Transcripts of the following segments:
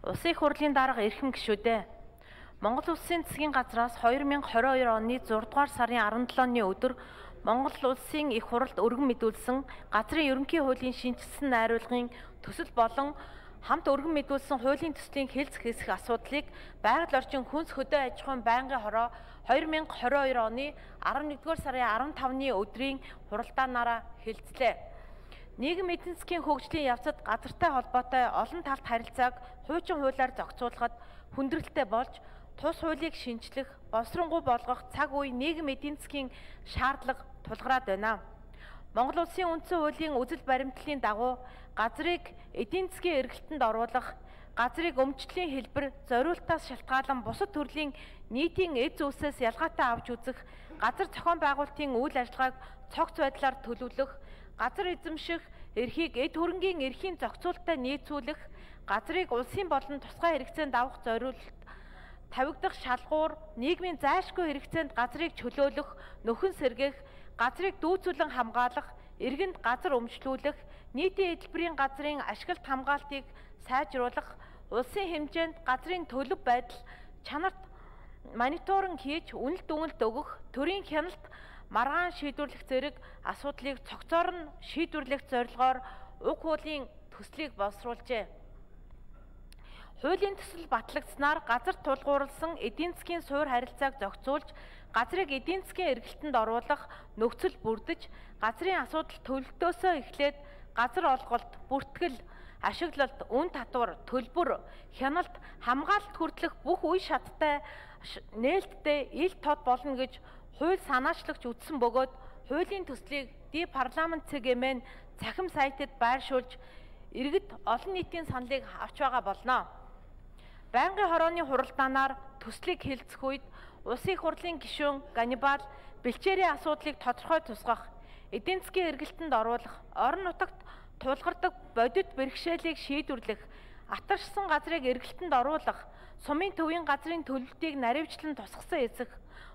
Улсын их хурлын дарга эрхэм гишүүдээ. Монгол Улсын засгийн газраас 2022 оны 6 дугаар сарын 17-ны өдөр Монгол Улсын их хуралд өргөн мэдүүлсэн газрын ерөнхий хуулийн шинжилсэн найруулгын төсөл болон хамт өргөн мэдүүлсэн хуулийн төслийн хэлцэх хэсэх асуудлыг байгаль орчин хүнс хөдөө аж ахуйн байнгын хороо 2022 оны 11-р сарын 15-ны өдрийн хуралдаанаараа хэлцлээ. Нийгэм эдийн засгийн хөгжлийн явцад газартай холбоотой олон талт харилцааг хуучин хуулиар зохицуулахад хүндрэлтэй болж тус хуулийг шинжлэх, боловсронгуй болгох цаг үе нийгэм эдийн засгийн шаардлага тулгараад байна. Монгол Улсын үндсэн хуулийн үзэл баримтлалын дагуу газрыг эдийн засгийн эргэлтэнд оруулах, газрыг өмчлөлийн хэлбэр зориултаас шалтгаалan бусад төрлийн нийтийн эд зүйлсээс ялгаатай авч үзэх, газар зохион байгуулалтын үйл ажиллагааг цогц байдлаар төлөвлөх, газар эзэмших эрхийг эд хөрөнгийн эрхийн зохицуулалттай нийцүүлэх, газрыг улсын болон тусгай хэрэгцээнд авах зориулалт тавигдах шалгуур, нийгмийн зайлшгүй хэрэгцээнд газрыг чөлөөлөх, нөхөн сэргээх, газрыг дүүцүүлэн хамгаалах, иргэнд газар өмчлүүлэх, нийтийн эдлбэрийн газрын ашиглалт хамгаалтыг сайжруулах, улсын хэмжээнд газрын төлөв байдал чанарт мониторинг хийж үнэлт дүгнэлт өгөх, төрийн хяналт маргаан шийдвэрлэх зэрэг асуудлыг цогцоор нь шийдвэрлэх зорилгоор уг хуулийн төслийг боловсруулжээ. Хуулийн төсөл батлагдсанаар газар тулгуурласан эдийн засгийн суур харилцааг зохицуулж, газрыг эдийн засгийн эргэлтэнд оруулах нөхцөл бүрдэж, газрын асуудал төлөвлөлтөөсөө эхлээд газар олголт, бүртгэл, ашиглалт, үн татвар, төлбөр, хяналт, хамгаалалт хүртэлх бүх үе шаттай нээлттэй ил тод болно гэж хууль санаачлагч үтсэн бөгөөд хуулийн төслийг парламент цэгийн цахим сайтад байршуулж иргэд олон нийтийн саналыг авч байгаа болно. Байнгын хорооны хуралдаанаар төслийг хэлцэх үед улсын их хурлын гишүүн Ганнибал бэлчээрийн асуудлыг тодорхой тусгах, эдийн засгийн эргэлтэнд оруулах, орон нутагт тулгардаг бодит бэрхшээлийг шийдвэрлэх, атаршсан газрыг эргэлтэнд оруулах, сумын төвийн газрын төлөлтийг наривчлан тусгасан эсэх,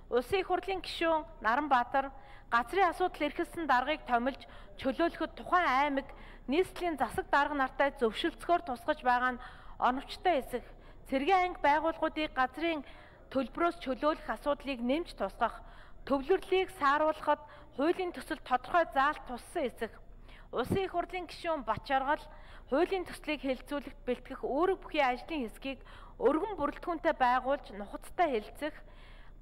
улсын их хурлын гишүүн Наранбаатар газрын асуудал эрхэлсэн даргыг томилж чөлөөлөхөд тухайн аймаг нийслэлийн засаг дарга нартай зөвшөлтсгөөр тусгаж байгаа нь оновчтой эсэх, цэргийн анги байгууллагуудыг газрын төлбөрөөс чөлөөлөх асуудлыг нэмж тусгах, төвлөрлийг сааруулахад хуулийн төсөл тодорхой заалт туссан эсэх, улсын их хурлын гишүүн Бачаргал хуулийн төслийг хэлэлцүүлэхэд бэлтгэх үүрэг бүхий ажлын хэсгийг өргөн бүрэлдэхүүнтэй байгуулж нухацтай хэлэлцэх,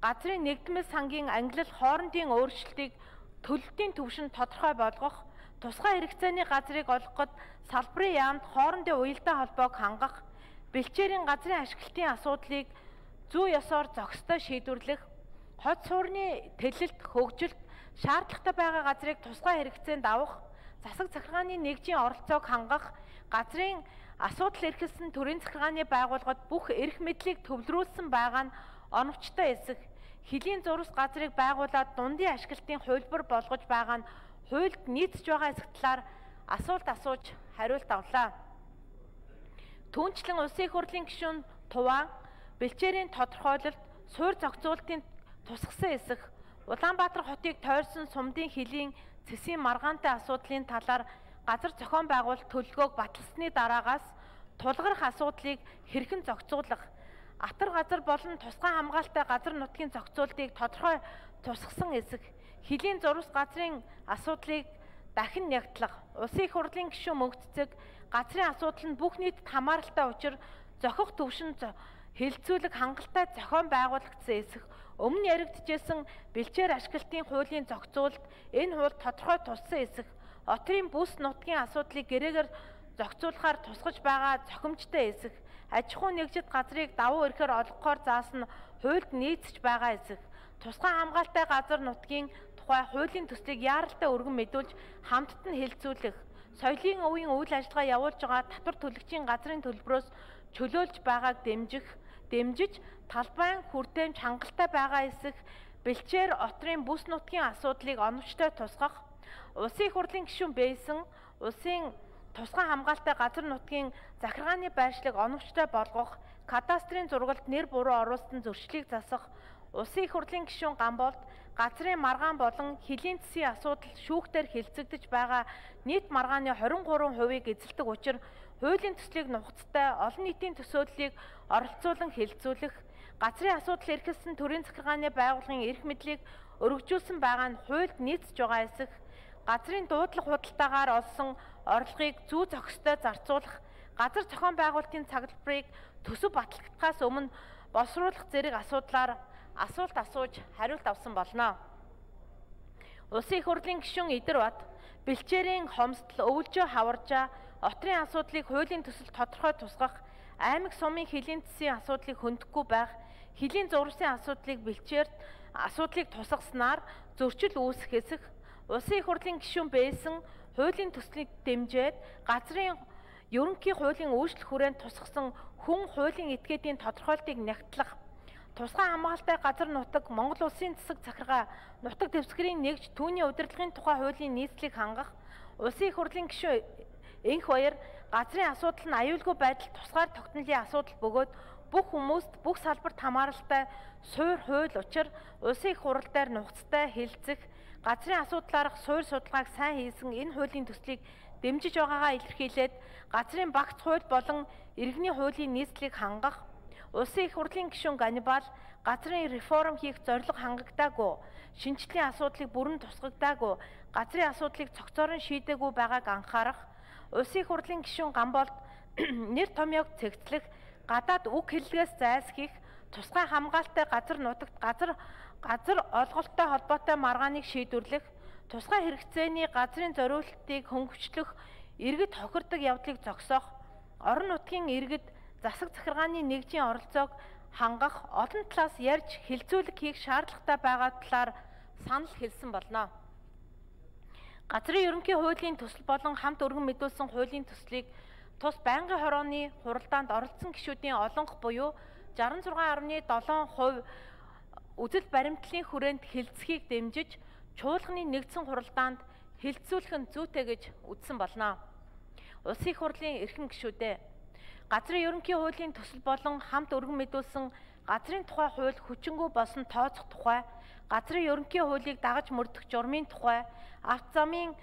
газрын нэгдмэл сангийн ангилал хоорондын өөрчлөлтийг төлөлтийн түвшинд тодорхой болгох, тусгай хэрэгцээний газрыг олгоход салбарын яамд хоорондын уялдаа холбоог хангах, бэлчээрийн газрын ашиглалтын асуудлыг зүй ёсоор зохистой шийдвэрлэх, хот суурны тэлэлт, хөгжилт, шаардлагатай байгаа газрыг тусгай хэрэгцээнд авах, засаг захиргааны нэгжийн оролцоог хангах, газрын асуудал эрхэлсэн төрийн захиргааны байгууллагад бүх эрх мэдлийг төвлөрүүлсэн байгаа нь оновчтой эсэх, хөлийн зурвас газрыг байгуулад дундын ашиглалтын хувилбар болгож байгаа нь хуульд нийцж байгаа эсэх талаар асуулт асууж хариулт авлаа. Түүнчлэн улсын их хурлын гишүүн Туваа бэлчээрийн тодорхойлолт, суур зохицуулалтын тусгасан эсэх, Улаанбаатар хотыг тойрсон сумдын хөлийн цэсийн маргаантай асуудлын талаар газар зохион байгуулалт төлөвлөгөөг баталсны дараагаас тулгарх асуудлыг хэрхэн зохицуулах, атар газар болон тусгай хамгаалалттай газар нутгийн зохицуултыг тодорхой тусгасан эсэх, хөлийн зурвас газрын асуудлыг дахин нягтлах, улсын их хурлын гишүүн Мөнхцэг газрын асуудал нь бүх нийтэд хамааралтай учир зохих төвшин хэлэлцүүлэх хангалттай зохион байгуулагдсан эсэх, өмнө яригдчихсэн бэлчээр ашиглалтын хуулийн зохицуулалт энэ хууль тодорхой туссан эсэх, отрын бүс нутгийн асуудлыг гэрээгээр зохицуулахаар тусгаж байгаа зохимжтой эсэх, аж ахуй нэгжид газрыг давуу эрхээр олгохоор заасан хуульд нийцэж байгаа эсэх, тусгай хамгаалалттай газар нутгийн тухай хуулийн төслийг яаралтай өргөн мэдүүлж хамтд нь хэлэлцүүлэх, соёлын өвийн үйл ажиллагаа явуулж байгаа татвар төлөгчийн газрын төлбөрөөс чөлөөлж байгааг дэмжиж талбайн хүртээмж хангалттай байгаа эсэх, бэлчээр отрын бүс нутгийн асуудлыг оновчтой тусгах, улсын их хурлын гишүүн Бэйсэн улсын тусгай хамгаалалттай газар нутгийн захиргааны байршлыг оновчтой болгох, кадастрын зургалд нэр буруу оруулалтын зөрчлийг засах, улсын их хурлын гишүүн Гамболд газрын маргаан болон хөлийн засгийн асуудал шүүхтээр хэлцэгдэж байгаа нийт маргааны 23%-ийг эзэлдэг учир хуулийн төслийг нухацтай олон нийтийн төсөөллийг оролцуулан хэлэлцүүлэх, газрын асуудал эрхэлсэн төрийн захиргааны байгууллагын эрх мэдлийг өргөжүүлсэн байгаа нь хуульд нийцж байгаа эсэх, газрын дуудлага худалдаагаар олсон орлогыг зүү зохистой зарцуулах, газар зохион байгуулалтын цаглбарыг төсөв батлагдахаас өмнө боловсруулах зэрэг асуудлаар асуулт асууж хариулт авсан болно. Улсын их хурлын гишүүн Идэрбат бэлчээрийн хомсдол, өвөлжөө хаваржаа, отрын асуудлыг хуулийн төсөл тодорхой тусгах, аймаг сумын хилийн засгийн асуудлыг хөндөхгүй байх, хилийн зурвасын асуудлыг тусгаснаар зөрчил үүсэх эсэх, улсын их хурлын гишүүн байсан хуулийн төслийг дэмжиж газрын ерөнхий хуулийн үйлчлэх хүрээнд тусгасан хүн хуулийн этгээдийн тодорхойлтыг нягтлах, тусгай хамгаалалтай газар нутаг Монгол улсын засаг захиргаа нутаг дэвсгэрийн нэгж түүний удирдлагын тухай хуулийн нийслэлийг хангах, улсын их хурлын гишүүн Энх Баяр газрын асуудал нь аюулгүй байдал тусгаар тогтнолын асуудал бөгөөд бүх хүмүүст бүх салбарт хамааралтай суур хууль учир улсын их хурал дээр нухацтай хэлэлцэх, газрын асуудлаарх суур судалгааг сайн хийсэн энэ хуулийн төслийг дэмжиж байгаагаа илэрхийлээд газрын багц хууль болон иргэний хуулийн нийслэлийг хангах, улсын их хурлын гишүүн Ганнибал газрын реформ хийх зорилго хангагдаагүй, шинжлэлийн асуудлыг бүрэн тусгагдаагүй, газрын асуудлыг цогцоор нь шийдээгүй байгааг анхаарах, улсын их хурлын гишүүн Гамболд нэр томьёог цэгцлэх, гадаад үг хэллэгээс зайлсхийх, тусгай хамгаалалтай газар нутагт газар олголттой холбоотой маргааныг шийдвэрлэх, тусгай хэрэгцээний газрын зориулалтыг хөнгөвчлөх, иргэд хохирдог явдлыг зогсоох, орон нутгийн иргэд засаг захиргааны нэгжийн оролцоог хангах, олон талаас ярьж хилцүүлэг хийх шаардлагатай байгаа талаар санал хэлсэн болно. Газрын ерөнхий хуулийн төсөл болон хамт өргөн мэдүүлсэн хуулийн төслийг тус байнгын хорооны хуралдаанд оролцсон гишүүдийн олонх буюу 66.7% үзэл баримтлалын хүрээнд хилцхийг дэмжиж чуулганы нэгдсэн хуралдаанд хилцүүлэх нь зүйтэй гэж үзсэн болно. Улсын их хурлын эрхэм гишүүдээ газрын ерөнхий хуулийн төсөл болон хамт өргөн мэдүүлсэн газрын тухай хууль хүчингүй болсон тооцох тухай, газрын ерөнхий хуулийг дагаж мөрдөх журмын тухай, авто замын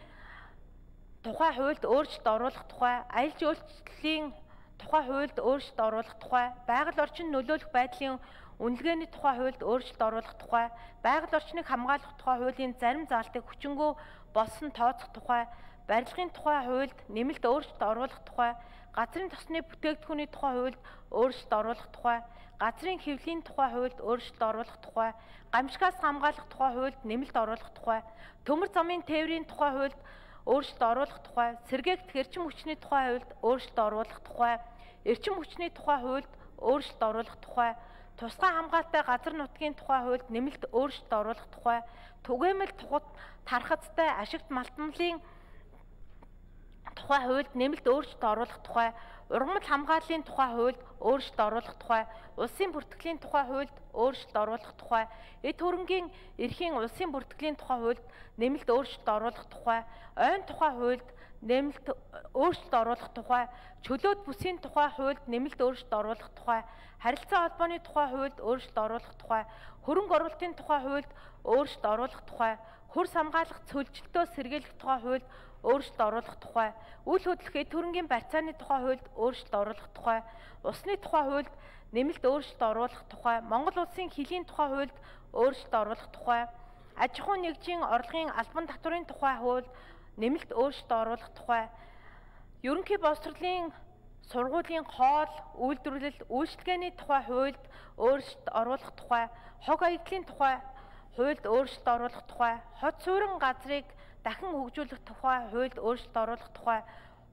тухай хуульд өөрчлөлт оруулах тухай, аялал жуулчлалын тухай хуульд өөрчлөлт оруулах тухай, байгаль орчин нөлөөлөх байдлын үнэлгээний тухай хуульд өөрчлөлт оруулах тухай, байгаль орчныг хамгаалах тухай хуулийн зарим заалтыг хүчингүй болсон тооцох тухай, барилгын тухай хуульд нэмэлт өөрчлөлт оруулах тухай, газрын тосны бүтээгдэхүүний тухай хуульд өөрчлөлт оруулах тухай, газрын хэвлэлийн тухай хуульд өөрчлөлт оруулах тухай, гамшигаас хамгаалах тухай хуульд нэмэлт оруулах тухай, төмөр замын тээврийн тухай хуульд өөрчлөлт оруулах тухай, сэргээгдэх эрчим хүчний тухай хуульд өөрчлөлт оруулах тухай, эрчим хүчний тухай хуульд өөрчлөлт оруулах тухай, тусгай хамгаалалтай газар нутгийн тухай хуульд нэмэлт өөрчлөлт оруулах тухай, түгээмэл тархацтай ашигт малтмлын тухай хуульд нэмэлт өөрчлөлт оруулах тухай, ургамал хамгааллын тухай хуульд өөрчлөлт оруулах тухай, улсын бүртгэлийн тухай хуульд өөрчлөлт оруулах тухай, эд хөрөнгийн эрхийн улсын бүртгэлийн тухай хуульд нэмэлт өөрчлөлт оруулах тухай, ойн тухай хуульд нэмэлт өөрчлөлт оруулах тухай, чөлөөт бүсийн тухай хуульд нэмэлт өөрчлөлт оруулах тухай, харилцаа холбооны тухай хуульд өөрчлөлт оруулах тухай, хөрөнгө оруулалтын тухай хуульд өөрчлөлт оруулах тухай, хөрс хамгаалах цөлжилтөө сэргийлэх тухай хуульд өөрчлөлт оруулах тухай, үйл хөдлөх эд хөрөнгийн барьцааны тухай хуульд өөрчлөлт оруулах тухай, усны тухай хуульд нэмэлт өөрчлөлт оруулах тухай, Монгол улсын хилийн тухай хуульд өөрчлөлт оруулах тухай, аж ахуйн нэгжийн орлогын албан татврын тухай хуульд нэмэлт өөрчлөлт оруулах тухай, ерөнхий боловсролын сургуулийн хоол, үйлдвэрлэл, үйлчилгээний тухай хуульд өөрчлөлт оруулах тухай, хог аягдлын тухай хуульд өөрчлөлт оруулах тухай, хот суурин газрыг дахин хөгжүүлэх тухай хуульд өөрчлөлт оруулах тухай,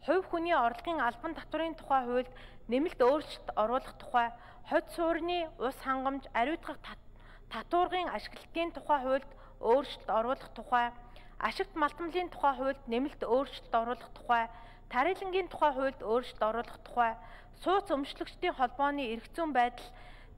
хувь хүний орлогын албан татврын тухай хуульд нэмэлт өөрчлөлт оруулах тухай, хот суурины ус хангамж, ариутгах татваргын ашиглалтын тухай хуульд өөрчлөлт оруулах тухай, ашигт малтмлын тухай хуульд нэмэлт өөрчлөлт оруулах тухай, тарилангийн тухай хуульд өөрчлөлт оруулах тухай, сууц өмчлөгчдийн холбооны эрх зүйн байдал,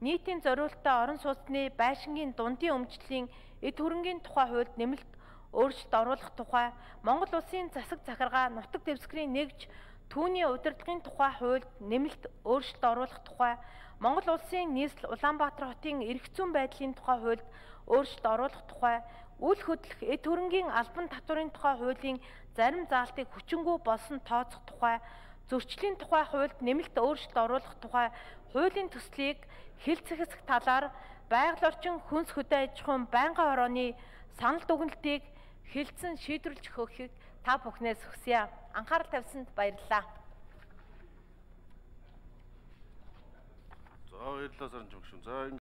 нийтийн зориулалттай орон сууцны байшингийн дундын өмчлөлийн эд хөрөнгийн тухай хуульд нэмэлт өөрчлөлт оруулах тухай, Монгол улсын засаг захиргаа нутаг дэвсгэрийн нэгж түүний удирдлагын тухай хуульд нэмэлт өөрчлөлт оруулах тухай, Монгол улсын нийслэл Улаанбаатар хотын эрх зүйн байдлын тухай хуульд өөрчлөлт оруулах тухай, үйл хөдлөх эд хөрөнгийн албан татврын тухай хуулийн зарим заалтыг хүчингүй болсон тооцох тухай, зөрчлийн тухай хуульд нэмэлт өөрчлөлт оруулах тухай хуулийн төслийг хэлцэхсэх талаар байгаль орчин хүнс хөдөө аж ахуйн байнгын хорооны санал дүгнэлтийг хэлцэн шийдвэрлэж өгөхийг та бүхнээс хүсье. Анхаарал тавьсанд баярлалаа. За баярлалаа Саранч багш. За